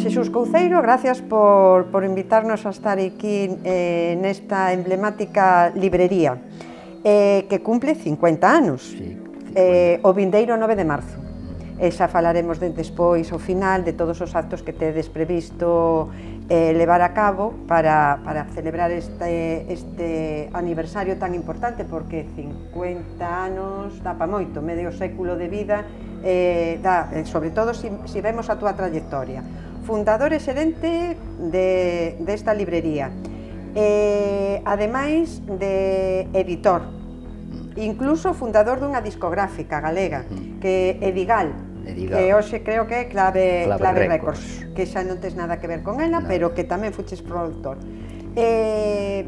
Xesús Couceiro, gracias por invitarnos a estar aquí nesta emblemática librería que cumple 50 anos, o vindeiro 9 de marzo. E xa falaremos despois, ao final, de todos os actos que tedes previsto levar a cabo para celebrar este aniversario tan importante, porque 50 anos dá pa moito, medio século de vida, sobre todo se vemos a túa trayectoria. Fundador e xerente desta librería, ademais de editor, incluso fundador dunha discográfica galega, que é Edigal, que hoxe creo que é Clave Records, que xa non tes nada que ver con ela, pero que tamén fuches produtor.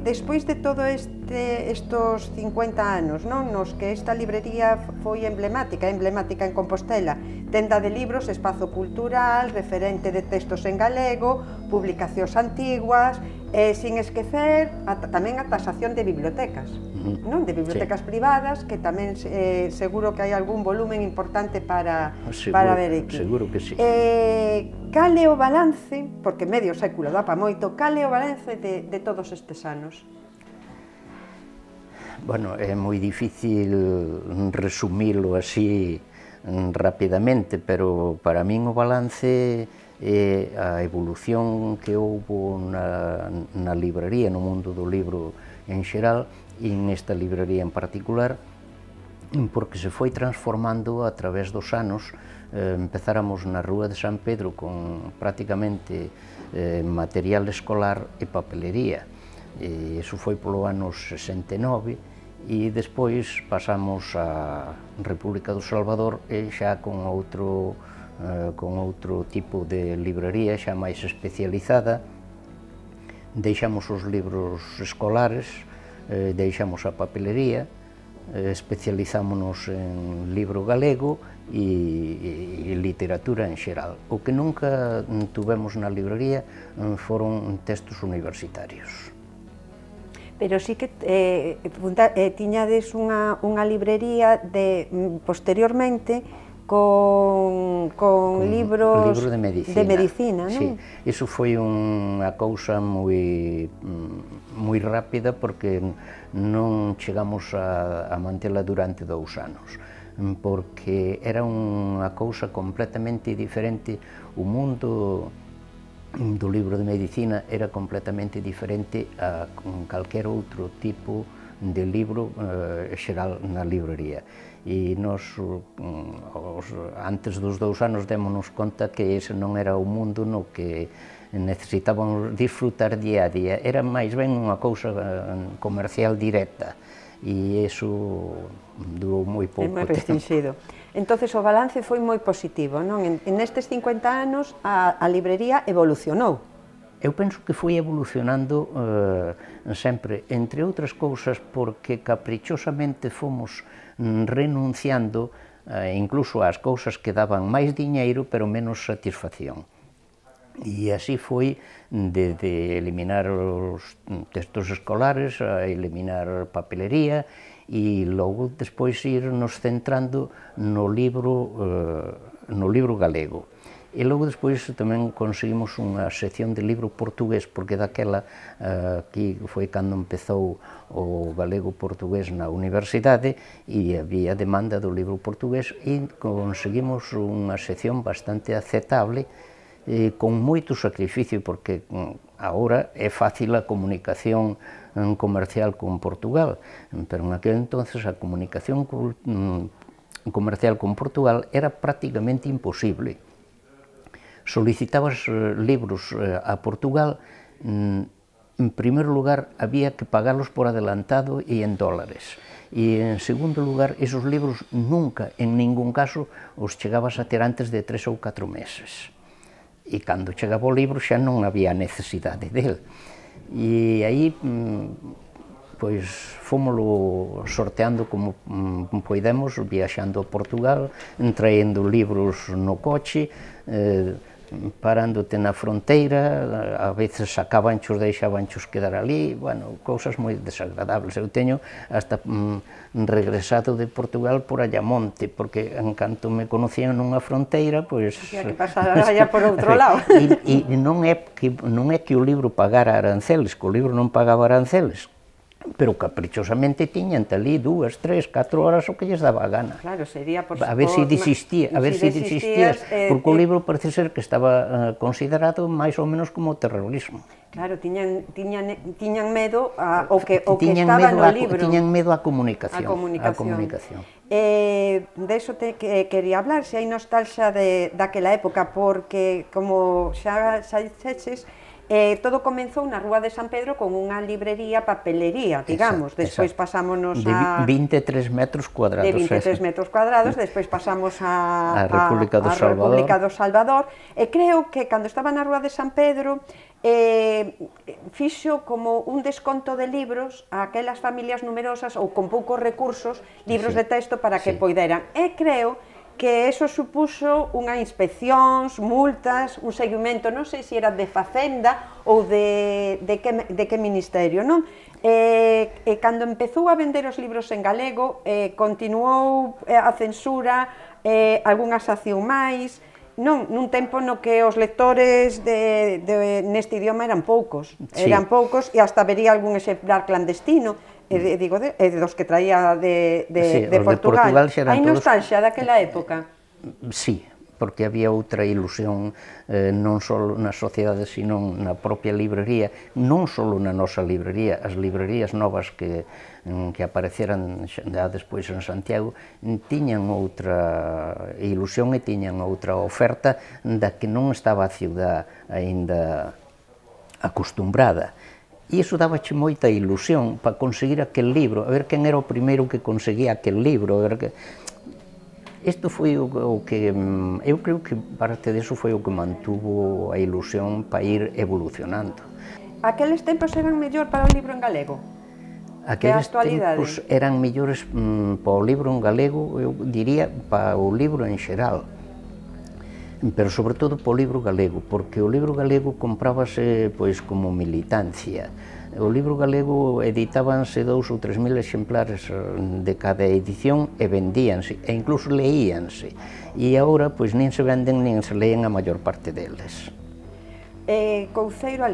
Despois de todo estos 50 anos, nos que esta librería foi emblemática en Compostela, tenda de libros, espazo cultural, referente de textos en galego, publicacións antiguas, sin esquecer tamén a tasación de bibliotecas, de bibliotecas privadas, que tamén seguro que hai algún volumen importante para ver aquí. Seguro que sí. Cal é o balance, porque medio século dá pa moito, cal é o balance de todos estes anos? Bueno, é moi difícil resumilo así rapidamente, pero para min o balance é a evolución que houbo na librería, no mundo do libro en xeral, e nesta librería en particular, porque se foi transformando a través dos anos. Empezáramos na Rúa de San Pedro con prácticamente material escolar e papelería, e iso foi polo ano 69, e despois pasamos á República do Salvador e xa con outro tipo de librería xa máis especializada. Deixamos os libros escolares, deixamos a papelería, especializámonos en libro galego e literatura en xeral. O que nunca tuvemos na librería foron textos universitarios. Pero sí que tiñades unha librería posteriormente con libros de medicina, non? Sí, iso foi unha cousa moi rápida, porque non chegamos a mantela durante 2 anos, porque era unha cousa completamente diferente. O mundo do libro de medicina era completamente diferente a calquer outro tipo de libro xeral na librería. E nós, antes dos 2 anos, démonos conta que ese non era o mundo no que necesitábamos disfrutar día a día. Era máis ben unha cousa comercial directa, e iso durou moi pouco tempo. É moi restringido. Entonces o balance foi moi positivo, non? Nestes 50 anos a librería evolucionou. Eu penso que foi evolucionando sempre, entre outras cousas, porque caprichosamente fomos renunciando incluso ás cousas que daban máis diñeiro pero menos satisfacción. E así foi de eliminar os textos escolares, a eliminar papelería, e logo despois irnos centrando no libro galego. E logo despois tamén conseguimos unha sección de libro portugués, porque daquela, aquí foi cando empezou o galego-portugués na universidade, e había demanda do libro portugués, e conseguimos unha sección bastante aceptable, con moito sacrificio, porque agora é fácil a comunicación comercial con Portugal, pero en aquel entonces a comunicación comercial con Portugal era prácticamente imposible. Solicitabas libros a Portugal, en primeiro lugar había que pagarlos por adelantado e en dólares, e en segundo lugar esos libros nunca, en ningún caso, os chegabas a ter antes de 3 ou 4 meses, e cando chegaba o libro xa non había necesidade del. E aí pois fómolo sorteando como poidemos, viaxando a Portugal, traendo libros no coche, parándote na fronteira, a veces sacabanchos, deixabanchos quedar ali, bueno, cousas moi desagradables. Eu teño hasta regresado de Portugal por Ayamonte, porque en canto me conocían nunha fronteira, pois... Había que pasar allá por outro lado. E non é que o libro pagara aranceles, que o libro non pagaba aranceles, pero caprichosamente tiñan ali 2, 3, 4 horas o que lles daba a gana. Claro, sería por... A ver se desistías, porque o libro parece ser que estaba considerado máis ou menos como terrorismo. Claro, tiñan medo ao que estaba no libro. Tiñan medo á comunicación. De iso quería hablar, se hai nostalgia daquela época, porque, como xa dixeches, todo comenzou na Rúa de San Pedro con unha librería, papelería, digamos. Despois pasámonos a... De 23 metros cuadrados. De 23 metros cuadrados, despois pasamos a República do Salvador. E creo que, cando estaba na Rúa de San Pedro, fixo como un desconto de libros a aquelas familias numerosas ou con poucos recursos, libros de texto para que poideran. E creo que eso supuxo unha inspeccións, multas, un seguimento, non sei se era de Facenda ou de que ministerio, non? E cando empezou a vender os libros en galego, continuou a censura, algunha sanción máis, non, nun tempo no que os lectores neste idioma eran poucos, e hasta vería algún exemplar clandestino, digo, dos que traía de Portugal. Hai nostalgia daquela época? Sí, porque había outra ilusión non só na sociedade, sino na propia librería, non só na nosa librería, as librerías novas que apareceran xa despois en Santiago tiñan outra ilusión e tiñan outra oferta da que non estaba a ciudad aínda acostumbrada. E iso dabache moita ilusión para conseguir aquel libro, a ver quen era o primeiro que conseguía aquel libro, a ver que... Isto foi o que... Eu creo que parte disso foi o que mantuvo a ilusión para ir evolucionando. Aqueles tempos eran mellor para o libro en galego? Aqueles tempos eran mellores para o libro en galego, eu diría, para o libro en xeral. Pero sobre todo para o libro galego, porque o libro galego comprábase pois como militancia. O libro galego editábanse 2 ou 3 mil exemplares de cada edición e vendíanse, e incluso leíanse. E agora pois nin se venden nin se leen a maior parte deles. Couceiro, a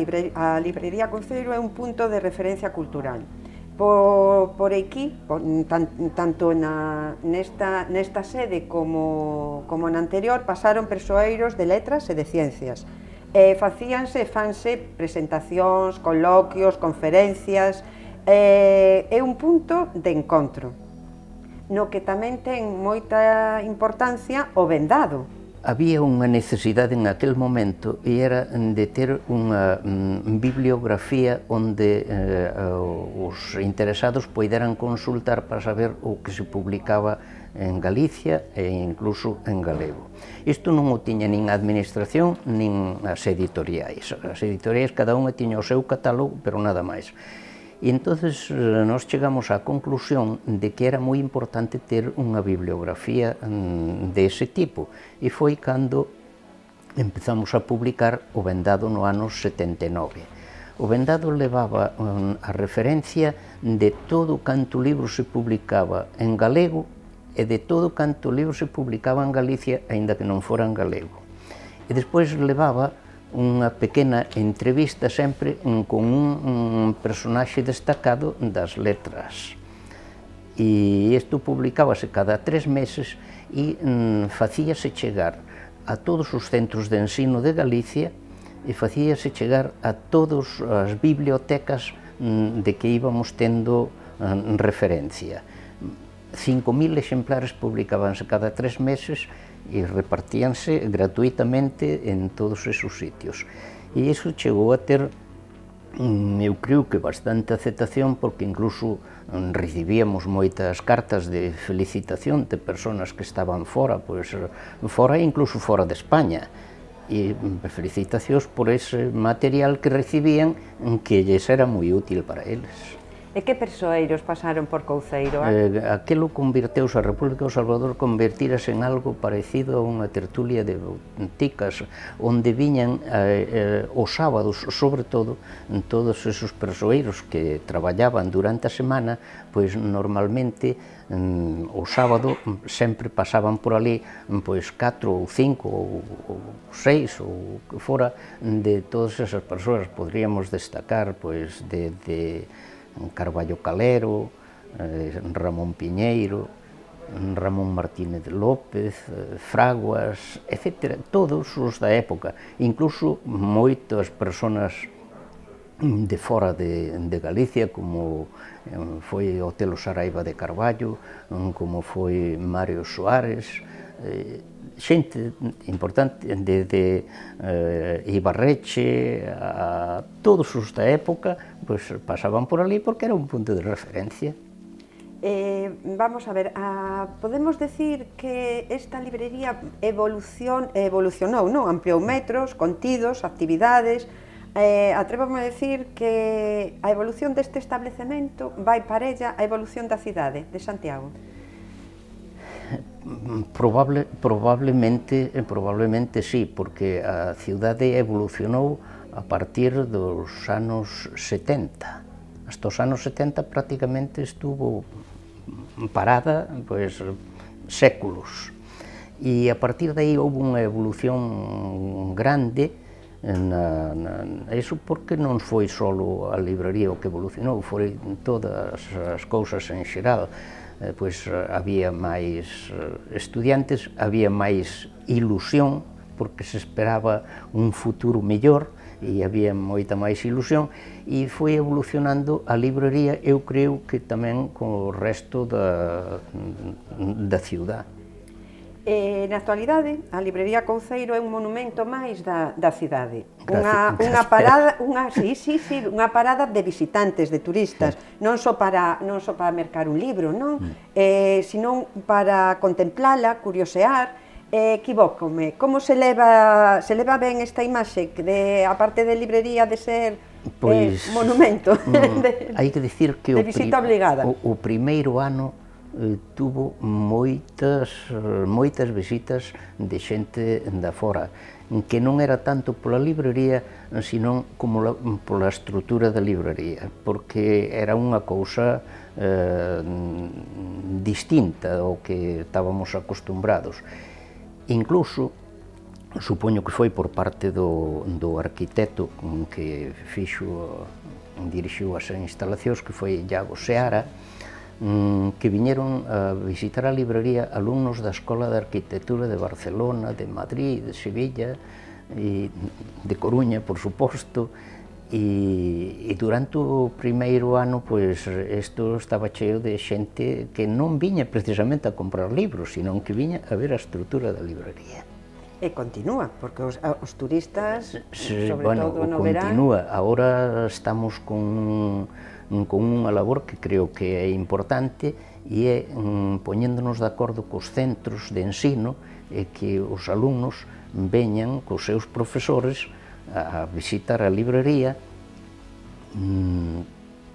librería Couceiro é un punto de referencia cultural. Por aquí, tanto nesta sede como na anterior, pasaron persoeiros de letras e de ciencias. Fanse presentacións, coloquios, conferencias, é un punto de encontro, no que tamén ten moita importancia o vendado. Había unha necesidade en aquel momento e era de ter unha bibliografía onde os interesados poideran consultar para saber o que se publicaba en Galicia e incluso en galego. Isto non o tiña nin a administración nin as editoriais. As editoriais cada unha tiña o seu catálogo, pero nada máis. E entonces nos chegamos á conclusión de que era moi importante ter unha bibliografía dese tipo, e foi cando empezamos a publicar o Vendado no ano 79. O Vendado levaba a referencia de todo canto libro se publicaba en galego e de todo canto libro se publicaba en Galicia, aínda que non fora en galego. E despois levaba unha pequena entrevista sempre con un personaxe destacado das letras. E isto publicábase cada 3 meses e facíase chegar a todos os centros de ensino de Galicia e facíase chegar a todas as bibliotecas de que íbamos tendo referencia. 5.000 exemplares publicábanse cada 3 meses e repartíanse gratuitamente en todos esos sitios. E iso chegou a ter, eu creo que bastante aceptación, porque incluso recibíamos moitas cartas de felicitación de persoas que estaban fora, pois fora e incluso fora de España, e felicitacións por ese material que recibían que lles era moi útil para eles. E que persoeiros pasaron por Couceiro? Aquilo convirteuse, a República do Salvador convertírase en algo parecido a unha tertulia de boticas, onde viñan os sábados, sobre todo, todos esos persoeiros que traballaban durante a semana, pois normalmente o sábado sempre pasaban por ali pois 4 ou 5 ou 6 ou que fora de todas esas persoas. Podríamos destacar pois de Carballo Calero, Ramón Piñeiro, Ramón Martínez López, Fraguas, etc. Todos os da época, incluso moitas persoas de fora de Galicia, como foi Otelo Saraiva de Carballo, como foi Mario Soares, xente importante, de Ibarreche, a todos os da época, pois pasaban por ali porque era un punto de referencia. Vamos a ver, podemos decir que esta librería evolucionou, non? Ampliou metros, contidos, actividades. Atrévome a decir que a evolución deste establecemento vai parella a evolución da cidade de Santiago. Probablemente sí, porque a cidade evolucionou a partir dos anos 70. Hasta os anos 70 prácticamente estuvo parada pois séculos, e a partir de aí houve unha evolución grande. Iso porque non foi só a libraría o que evolucionou, foi todas as cousas en xeral. Pois había máis estudiantes, había máis ilusión, porque se esperaba un futuro mellor, e había moita máis ilusión, e foi evolucionando a librería, eu creo que tamén co resto da ciudad. Na actualidade, a librería Couceiro é un monumento máis da cidade. Unha parada de visitantes, de turistas, non só para mercar un libro, non? Senón para contemplala, curiosear. Equivócome, como se leva ben esta imaxe, a parte de librería de ser monumento? Hai que dicir que o primeiro ano tuvo moitas visitas de xente da fora, que non era tanto pola librería, senón como pola estrutura da librería, porque era unha cousa distinta ao que estábamos acostumbrados. Incluso, supoño que foi por parte do arquitecto que dirixiu as instalacións, que foi Iago Seara, que viñeron a visitar a librería alumnos da Escola de Arquitectura de Barcelona, de Madrid, de Sevilla, e de Coruña, por suposto, e durante o primeiro ano, pois, isto estaba cheo de xente que non viña precisamente a comprar libros, senón que viña a ver a estrutura da librería. E continúa, porque os turistas, sobre todo no verán... Continúa. Agora estamos con unha labor que creo que é importante, e é poñéndonos de acordo cos centros de ensino, e que os alumnos veñan cos seus profesores a visitar a librería,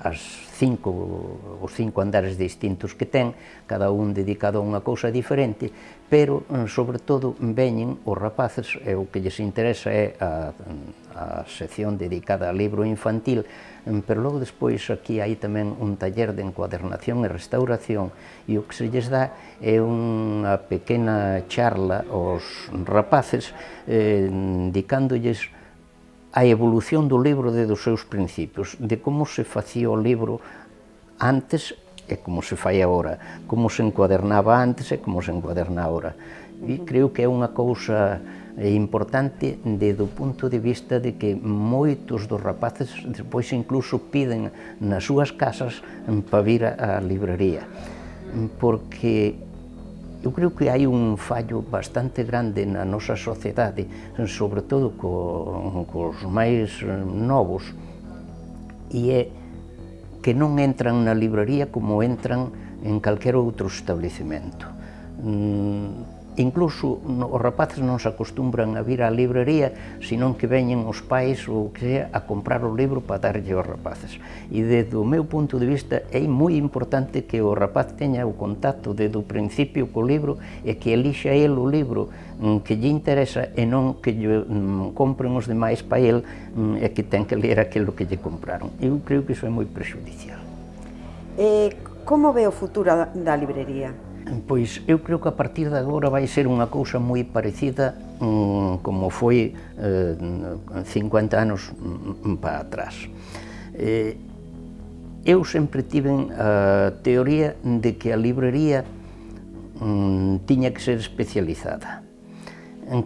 os 5 andares distintos que ten, cada un dedicado a unha cousa diferente, pero, sobre todo, veñen os rapaces, e o que lles interesa é a sección dedicada ao libro infantil, pero logo despois aquí hai tamén un taller de encuadernación e restauración, e o que se lles dá é unha pequena charla aos rapaces, indicándolles a evolución do libro desde os seus principios, de como se facía o libro antes e como se fai agora, como se encuadernaba antes e como se encuaderna agora. E creo que é unha cousa importante desde o punto de vista de que moitos dos rapaces despois incluso piden nas súas casas para vir á librería, porque eu creo que hai un fallo bastante grande na nosa sociedade, sobre todo cos máis novos, e é que non entran na librería como entran en calquer outro establecemento. Incluso os rapaces non se acostumbran a vir á librería, senón que veñen os pais ou que sea a comprar o libro para darlle aos rapaces. E desde o meu punto de vista é moi importante que o rapaz teña o contacto desde o principio co libro e que elixa el o libro que lle interesa e non que lle compren os demais para el e que ten que ler aquilo que lle compraron. Eu creo que iso é moi prexudicial. Como ve o futuro da librería? Pois eu creo que a partir de agora vai ser unha cousa moi parecida como foi 50 anos para atrás. Eu sempre tive a teoría de que a librería tiña que ser especializada.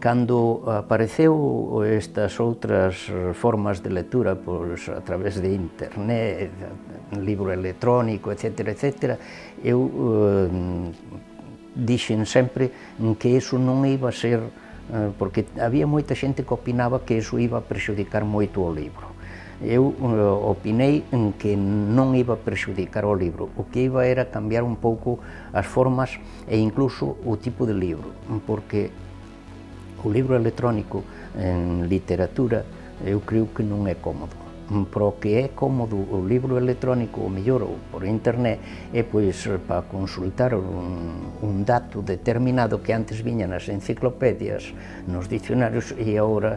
Cando apareceu estas outras formas de lectura a través de internet, libro electrónico, etc., eu dixen sempre que iso non iba a ser, porque había moita xente que opinaba que iso iba a prexudicar moito o libro. Eu opinei que non iba a prexudicar o libro, o que iba era cambiar un pouco as formas e incluso o tipo de libro, porque o libro electrónico en literatura eu creo que non é cómodo. Para o que é cómodo o libro electrónico, o mellor ou por internet, é pois para consultar un dato determinado que antes viña nas enciclopedias, nos dicionarios, e agora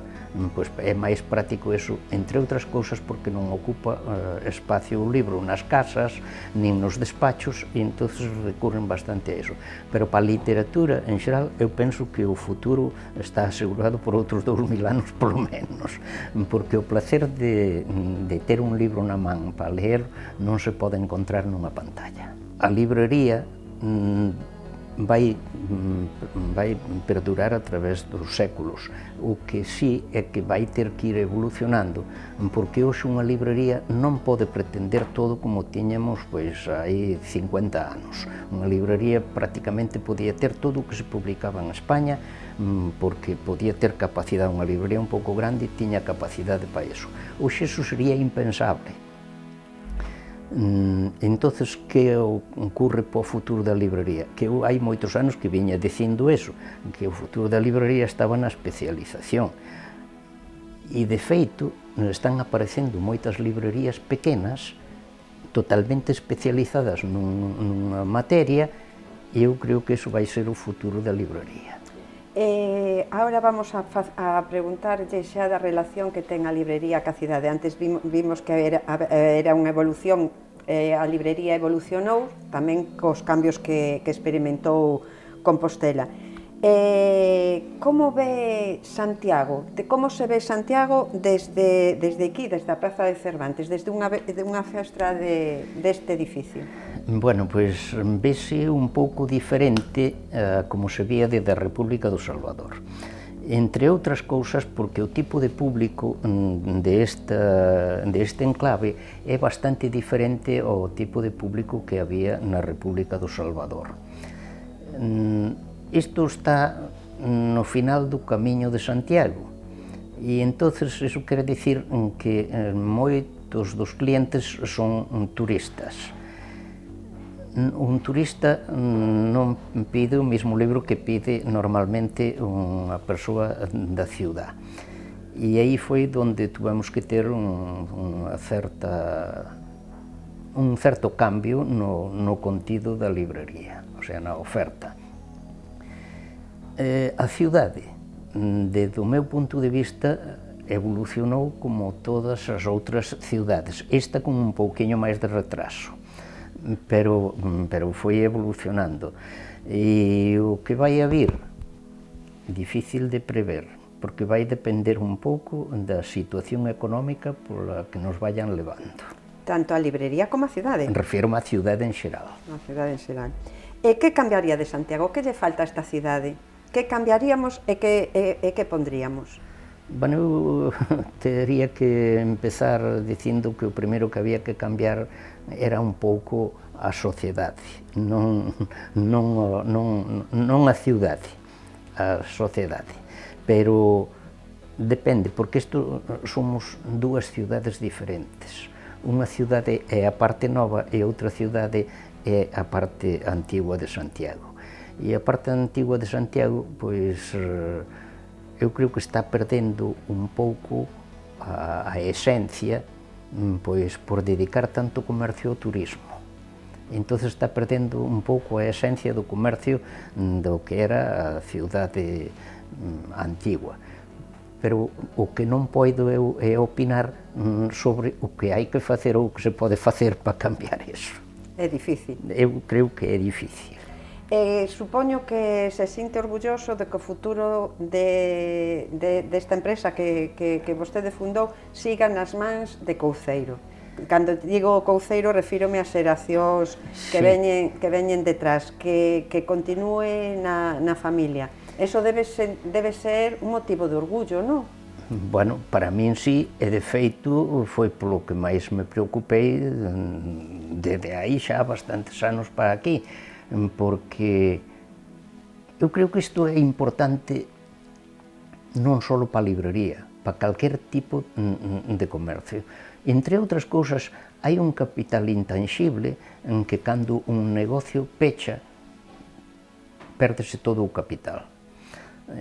pois é máis práctico eso, entre outras cousas porque non ocupa espacio o libro nas casas, nin nos despachos, e entonces recurren bastante a eso. Pero para a literatura, en xeral, eu penso que o futuro está asegurado por outros 2000 anos, polo menos, porque o placer de ter un libro na man para ler non se pode encontrar nunha pantalla. A librería vai perdurar a través dos séculos, o que sí é que vai ter que ir evolucionando, porque hoxe unha librería non pode pretender todo como tiñamos pois hai 50 anos. Unha librería prácticamente podía ter todo o que se publicaba en España, porque podía ter capacidade, unha librería un pouco grande tiña capacidade para iso. Hoxe iso sería impensable. Entonces, que ocurre para o futuro da librería? Que hai moitos anos que viña dicindo eso, que o futuro da librería estaba na especialización. E, de feito, están aparecendo moitas librerías pequenas, totalmente especializadas nunha materia, e eu creo que eso vai ser o futuro da librería. Ahora vamos a preguntarlle xa da relación que ten a librería ca cidade. Antes vimos que era unha evolución, a librería evolucionou tamén cos cambios que experimentou Compostela. Como ve Santiago? Como se ve Santiago desde aquí, desde a Praza de Cervantes, desde unha festra deste edificio? Bueno, pois vese un pouco diferente como se vía desde a República do Salvador. Entre outras cousas porque o tipo de público deste enclave é bastante diferente ao tipo de público que había na República do Salvador. Isto está no final do camiño de Santiago e entonces iso quere dicir que moitos dos clientes son turistas. Un turista non pide o mesmo libro que pide normalmente unha persoa da ciudad. E aí foi onde tuvemos que ter un certo cambio no contido da librería, o sea, na oferta. A ciudade, desde o meu punto de vista, evolucionou como todas as outras ciudades, esta con un pouquiño máis de retraso. Pero foi evolucionando, e o que vai a vir, difícil de prever, porque vai depender un pouco da situación económica pola que nos vayan levando. Tanto a librería como a cidade? Refiro-me á cidade en xeral. A cidade en xeral. E que cambiaría de Santiago? Que lle falta a esta cidade? Que cambiaríamos e que pondríamos? Bueno, eu teria que empezar dicindo que o primeiro que había que cambiar era un pouco a sociedade, non a ciudade, a sociedade. Pero depende, porque isto somos dúas ciudades diferentes. Unha ciudade é a parte nova e outra ciudade é a parte antigua de Santiago. E a parte antigua de Santiago, pois, eu creo que está perdendo un pouco a esencia, pois, por dedicar tanto comercio ao turismo. Entón está perdendo un pouco a esencia do comercio do que era a ciudade antigua. Pero o que non podo eu é opinar sobre o que hai que facer ou o que se pode facer para cambiar iso. É difícil. Eu creo que é difícil. Supoño que se sinte orgulloso de que o futuro desta empresa que vostede fundou siga nas mans de Couceiro. Cando digo Couceiro, refírome ás xeracións que veñen detrás, que continúe na familia. Eso debe ser un motivo de orgullo, non? Bueno, para min sí, e de feito foi polo que máis me preocupei desde aí xa bastantes anos para aquí, porque eu creo que isto é importante non só para a librería, para calquer tipo de comercio. Entre outras cousas, hai un capital intangible en que cando un negocio pecha, pérdese todo o capital,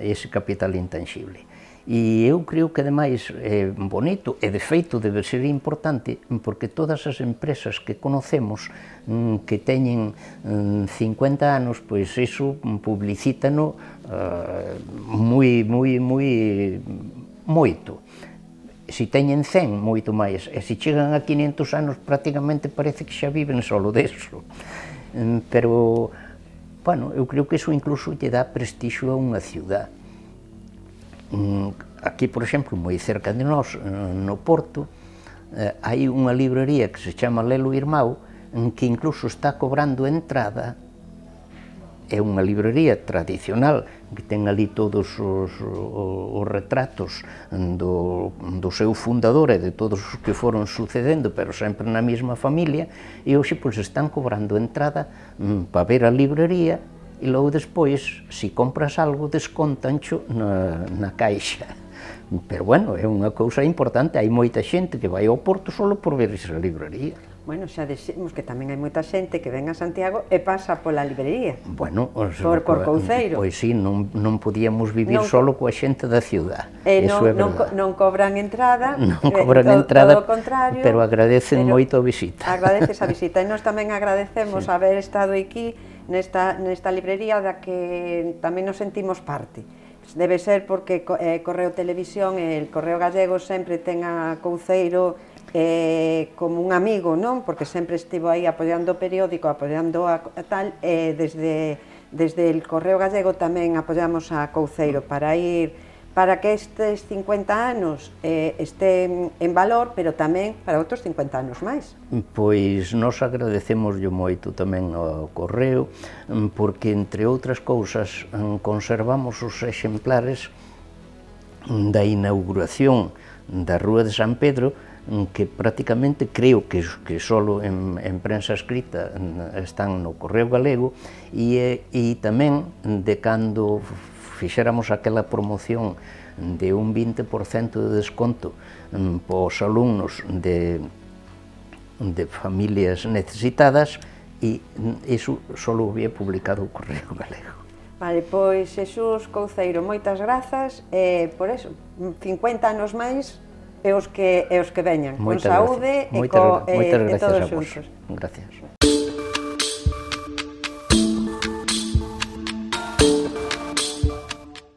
ese capital intangible. E eu creo que, ademais, é bonito, e de feito debe ser importante, porque todas as empresas que conocemos que teñen 50 anos, pois iso publicítano moito. Se teñen 100, moito máis, e se chegan a 500 anos, prácticamente parece que xa viven solo deso. Pero, bueno, eu creo que iso incluso lle dá prestixio a unha ciudad. Aquí, por exemplo, moi cerca de nós, no Porto, hai unha librería que se chama Lelo Irmão, que incluso está cobrando entrada. É unha librería tradicional, que ten ali todos os retratos do seu fundador e de todos os que foron sucedendo, pero sempre na mesma familia, e hoxe pois están cobrando entrada para ver a librería, e logo despois, se compras algo, descontancho na caixa. Pero, bueno, é unha cousa importante, hai moita xente que vai ao Porto só por ver esa librería. Bueno, xa dixemos que tamén hai moita xente que ven a Santiago e pasa pola librería. Bueno, por Couceiro. Pois sí, non podíamos vivir só coa xente da ciudad. Non cobran entrada, todo o contrario, pero agradecen moito a visita. Agradeces a visita, e nós tamén agradecemos haber estado aquí nesta librería da que tamén nos sentimos parte. Debe ser porque Correo Televisión e el Correo Gallego sempre ten a Couceiro como un amigo, non? Porque sempre estivo aí apoiando o periódico, apoiando a tal, e desde el Correo Gallego tamén apoiamos a Couceiro para que estes 50 anos estén en valor, pero tamén para outros 50 anos máis. Pois nós agradecemoslle moito tamén ao Correo, porque, entre outras cousas, conservamos os exemplares da inauguración da Rúa de San Pedro, que prácticamente creo que só en prensa escrita están no Correo Galego, e tamén de cando fixéramos aquela promoción de un 20% de desconto para os alumnos de familias necesitadas, e iso só o había publicado o Correo Galego. Vale, pois, Xesús Couceiro, moitas grazas, e por eso, 50 anos máis, e os que veñan, con saúde e todos xuntos. Gracias.